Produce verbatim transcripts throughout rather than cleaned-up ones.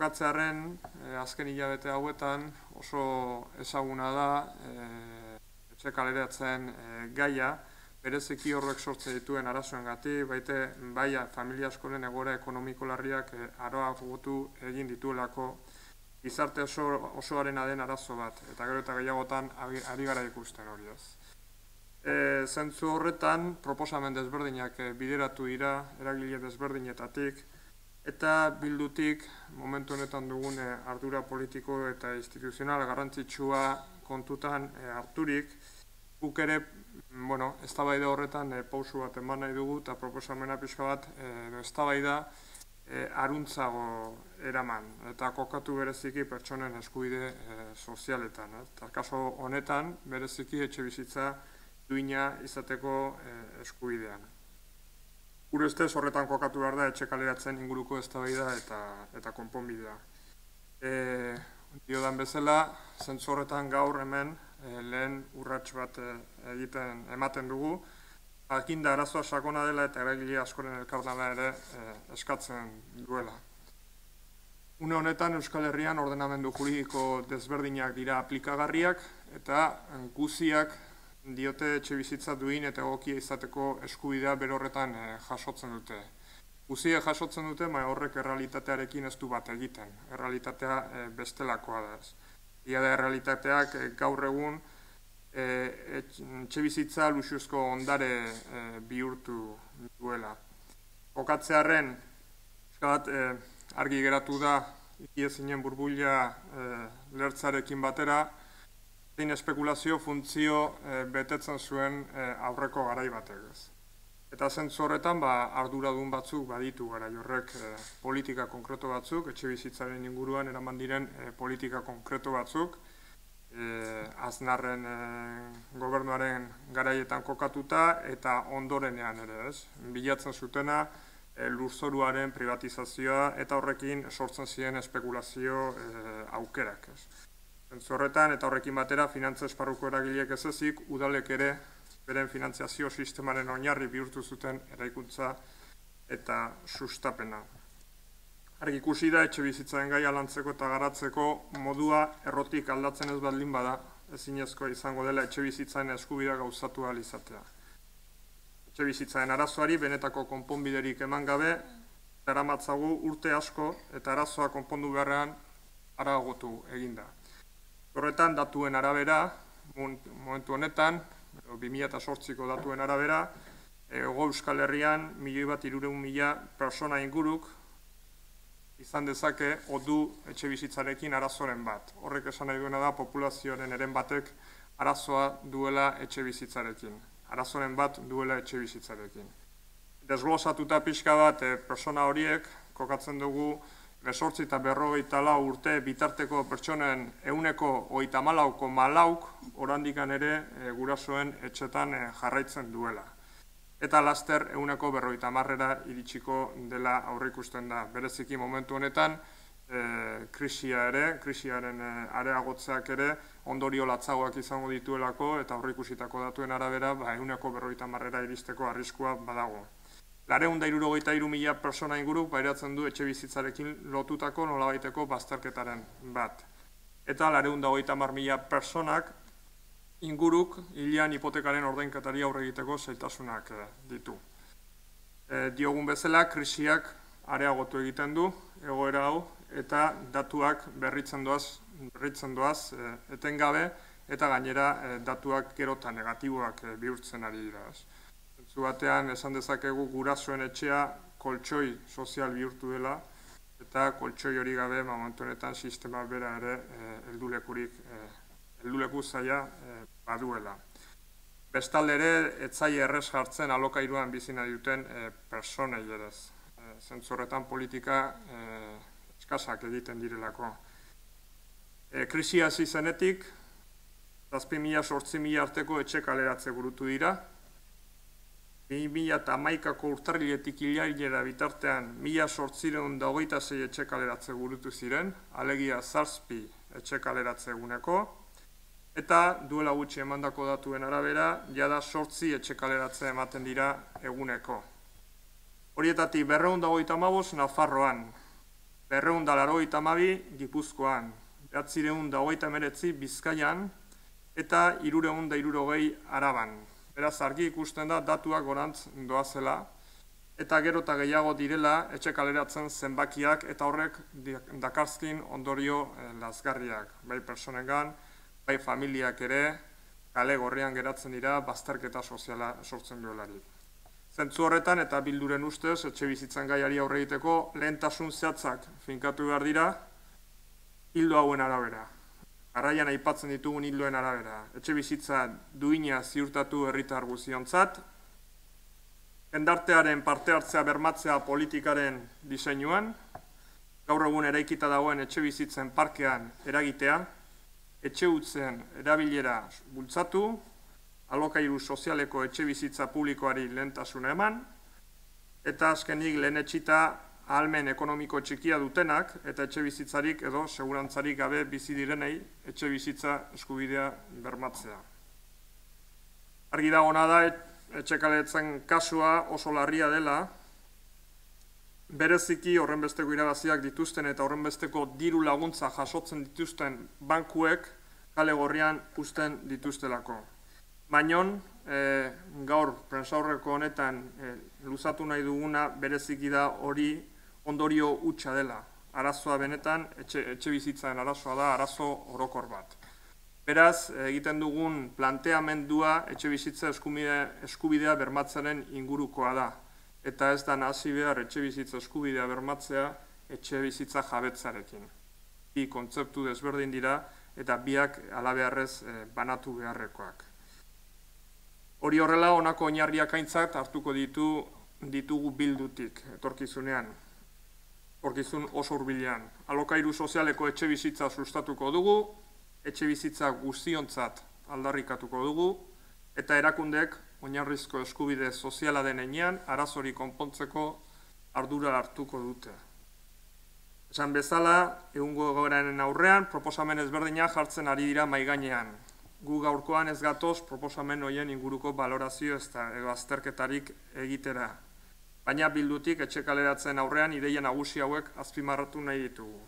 kokatzearen azken hilabete hauetan oso ezaguna da etxe kaleratzen gaia, bereziki horrek sortzen dituen arazoengatik, baite bai familia askoren egoera ekonomiko larriak areagotu egin dituelako gizarte osoarena den arazo bat, eta gero eta gehiagotan ari gara ikusten hori ez. Zentzu horretan, proposamen desberdinak bideratu dira, eragile desberdinetatik, eta bildutik, momentu honetan dugun ardura politiko eta instituzional garrantzitsua kontutan harturik, guk ere, bueno, eztabaida horretan pausu bat eman nahi dugu, eta proposamena pixka bat, eztabaida aruntzago eraman, eta kokatu bereziki pertsonen eskubide sozialetan. Eta kaso honetan, bereziki etxe bizitza duina izateko eskubidean. Gure ustez horretan kokatu behar da etxe kaleratzen inguruko eztabaida eta konponbidea. Diodan bezala, zentzu horretan gaur hemen lehen urrats bat egiten ematen dugu, jakinda arazoa sakona dela eta eragile askoren elkarlana ere eskatzen duela. Une honetan Euskal Herrian ordenamendu juridiko desberdinak dira aplikagarriak eta guziak diote etxe bizitza duin eta egokia izateko eskubidea berorretan jasotzen dute. Guziek jasotzen dute, baina horrek errealitatearekin ez du bat egiten. Errealitatea bestelakoa da ez. Ia da errealitateak gaur egun etxe bizitza luxuzko ondare bihurtu duela. Kokatzearen, argi geratu da, ikiezinen burbuila lertzarekin batera, zein espekulazio funtzio betetzen zuen aurreko garai batek ez. Eta zentzu horretan, arduradun batzuk baditu garai horrek politika konkreto batzuk, etxe bizitzaren inguruan eraman diren politika konkreto batzuk, Aznarren gobernuaren garaietan kokatuta eta ondorenean ere ez. Bilatzen zutena lurzoruaren privatizazioa eta horrekin sortzen ziren espekulazio aukerak ez. Zentzu horretan eta horrekin batera finantza esparruko eragileek ez ezik, udalek ere beren finantziazio sistemaren oinarri bihurtu zuten eraikuntza eta sustapena. Argi ikusi da etxe bizitzaren gaia lantzeko eta garatzeko modua errotik aldatzen ez baldin bada, ezinezkoa izango dela etxe bizitzaren eskubidea gauzatu ahal izatea. Etxe bizitzaren arazoari benetako konponbiderik eman gabe, daramatzagu urte asko eta arazoa konpondu beharrean areagotu eginda. Horretan datuen arabera, momentu honetan, bi mila zortziko datuen arabera, Hego Euskal Herrian milioi bat hirurehun mila pertsona inguruk izan dezake odu etxe bizitzarekin arazoren bat. Horrek esan nahi duena da populazioaren eren batek arazoa duela etxe bizitzarekin. Arazoren bat duela etxe bizitzarekin. Desglosatuta pixka bat pertsona horiek kokatzen dugu besortzi eta berrogeita lau urte bitarteko pertsonen ehuneko hogeita hamalauko malauk orandikan ere gurasoen etxetan jarraitzen duela. Eta laster ehuneko berrogeita hamarrera iritsiko dela aurreikusten da. Bereziki momentu honetan krisia ere, krisiaren areagotzeak ere ondorio latzagoak izango dituelako eta aurreikusitako datuen arabera ehuneko berrogeita hamarrera iristeko arriskua badago. Laurehun eta hirurogeita hiru mila pertsona inguruk pairatzen du etxe bizitzarekin lotutako nolabaiteko bazterketaren bat. Eta laurehun eta hogeita hamar mila pertsonak inguruk hilean hipotekaren ordainketari aurre egiteko zailtasunak ditu. Diogun bezala, krisiak areagotu egiten du egoera hau eta datuak berritzen doaz, berritzen doaz etengabe eta gainera datuak gero eta negatiboak bihurtzen ari dira. Zu batean esan dezakegu gurasoen etxea koltsoi sozial bihurtu dela eta koltsoi hori gabe momentu honetan sistema bera ere heldulekurik helduleku zaila baduela. Bestalde ere, etzaile errez jartzen alokairuan bizi nahi duten pertsonei ere. Zentzu horretan politika eskasak egiten direlako. Krisia hasi zenetik, zazpi mila zortzi mila arteko etxe kaleratze burutu dira. bi mila hamaikako urtarriletik hilailera bitartean mila zortziehun eta hogeita sei etxe kaleratze burutu ziren, alegia zazpi etxe kaleratze eguneko, eta duela gutxi emandako datuen arabera, jada zortzi etxe kaleratze ematen dira eguneko. Horietatik berrehun eta hogeita hamabost Nafarroan, berrehun eta laurogeita hamabi Gipuzkoan, bederatziehun eta hogeita hemeretzi Bizkaian eta hirurehun eta hirurogei Araban. Beraz, argi ikusten da datuak gorantz doazela, eta gero eta gehiago direla etxe kaleratzen zenbakiak eta horrek dakarzkin ondorio lazgarriak. Bai personengan, bai familiak ere, kale gorrian geratzen dira bazterketa soziala sortzen duelarik. Zentzu horretan eta Bilduren ustez, etxe bizitzan gaiari aurre egiteko lehentasun zehatzak finkatu behar dira, hildo hauen arabera. Garaian aipatzen ditugun hildoen arabera. Etxe bizitza duina ziurtatu herritar guztiontzat, jendartearen parte hartzea bermatzea politikaren diseinuan, gaur egun eraikita dagoen etxe bizitzen parkean eragitea, etxe hutzen erabilera bultzatu, alokairu sozialeko etxe bizitza publikoari lehentasuna eman, eta azkenik lehen etxita ahalmen ekonomiko txikia dutenak eta etxe bizitzarik edo segurantzarik gabe bizi direnei etxe bizitza eskubidea bermatzea. Argi dagona da, etxe kaletzen kasua oso larria dela, bereziki horrenbesteko irabaziak dituzten eta horrenbesteko diru laguntza jasotzen dituzten bankuek kale gorrian uzten dituztelako. Bainon, e, gaur prentsaurreko honetan e, luzatu nahi duguna bereziki da hori ondorio hutsa dela. Arazoa benetan, etxe, etxe bizitzaren arazoa da, arazo orokor bat. Beraz, egiten dugun planteamendua etxe bizitza eskubidea, eskubidea bermatzaren ingurukoa da. Eta ez da nahasi behar etxe bizitza eskubidea bermatzea etxe bizitza jabetzarekin. Bi kontzeptu desberdin dira eta biak halabeharrez e, banatu beharrekoak. Hori horrela, honako oinarriak aintzat hartuko ditu ditugu Bildutik, etorkizunean, etorkizun oso hurbilean. Alokairu sozialeko etxe bizitza sustatuko dugu, etxe bizitza guztiontzat aldarrikatuko dugu, eta erakundek oinarrizko eskubide soziala den heinean arazori konpontzeko ardura hartuko dute. Esan bezala, egungo egoeraren aurrean, proposamen ezberdina jartzen ari dira maigainean. Gu gaurkoan ez gatoz proposamen horien inguruko balorazio ez da edo azterketarik egitera. Baina Bildutik etxe kaleratzen aurrean ideia nagusi hauek azpimarratu nahi ditugu.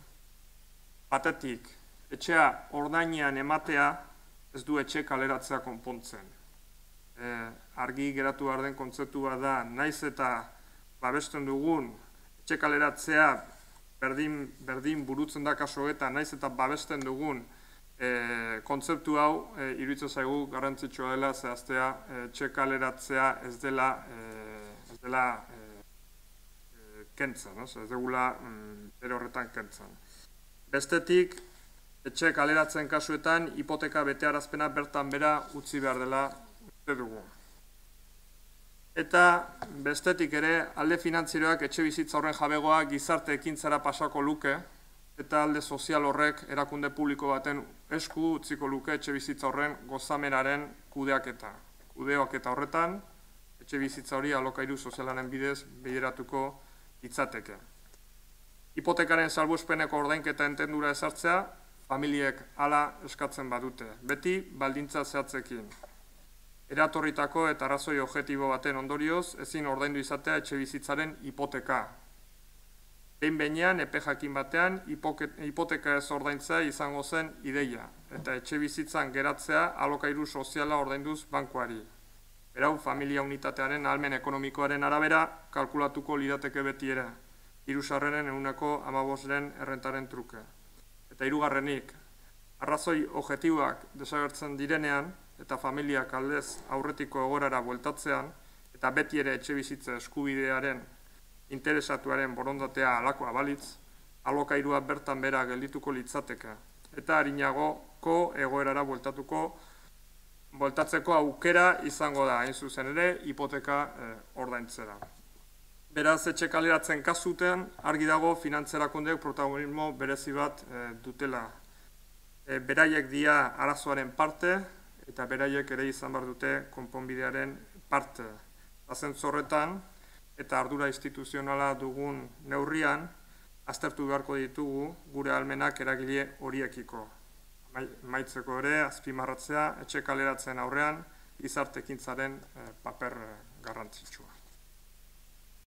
Batetik, etxea ordainean ematea ez du etxe kaleratzea konpontzen. E, argi geratu behar den kontzeptua da, naiz eta babesten dugun etxe kaleratzea berdin, berdin burutzen da kaso eta naiz eta babesten dugun E, kontzeptu hau e, iruditzen zaigu garrantzitsua dela zehaztea etxe kaleratzea ez dela, e, ez dela e, e, kentzen, no? Ez degula mm, ere horretan kentzen. Bestetik, etxe kaleratzen kasuetan hipoteka betearazpena bertan bera utzi behar dela uste dugu. Eta bestetik ere, alde finantzieroak etxe bizitza horren jabegoa gizarte ekintzara pasako luke, eta alde sozial horrek erakunde publiko baten esku utziko luke etxe bizitza horren gozamenaren kudeaketa. Kudeaketa horretan, etxe bizitza hori alokairu sozialaren bidez bideratuko litzateke. Hipotekaren salbuespeneko ordainketa entendura ezartzea, familiek hala eskatzen badute, beti baldintza zehatzekin. Eratorritako eta arrazoi objektibo baten ondorioz, ezin ordaindu izatea etxe bizitzaren hipoteka. Behin behinean, epe jakin batean, hipoteka ez ordaintzea izango zen ideia, eta etxe bizitzan geratzea alokairu soziala ordainduz bankuari. Berau, familia unitatearen ahalmen ekonomikoaren arabera kalkulatuko lirateke beti ere, hiru sarreren ehuneko hamabosren errentaren truke. Eta hirugarrenik, arrazoi objektiboak desagertzen direnean, eta familiak aldez aurretiko egorara bueltatzean, eta beti ere etxe bizitza eskubidearen interesatuaren borondatea alakoa balitz, alokairua bertan bera geldituko litzateke, eta harinagoko egoerara bueltatuko, bueltatzeko aukera izango da, hain zuzen ere, hipoteka eh, ordaintzera. Beraz, etxe kaleratzen kasuten, argi dago finantzerakundeek protagonismo berezi bat eh, dutela. E, beraiek dia arazoaren parte, eta beraiek ere izan behar dute konponbidearen parte. Azen zorretan, eta ardura instituzionala dugun neurrian, aztertu beharko ditugu gure ahalmenak eragile horiekiko. Maitzeko ere, azpimarratzea, etxe kaleratzen aurrean, gizarte ekintzaren paper garrantzitsua.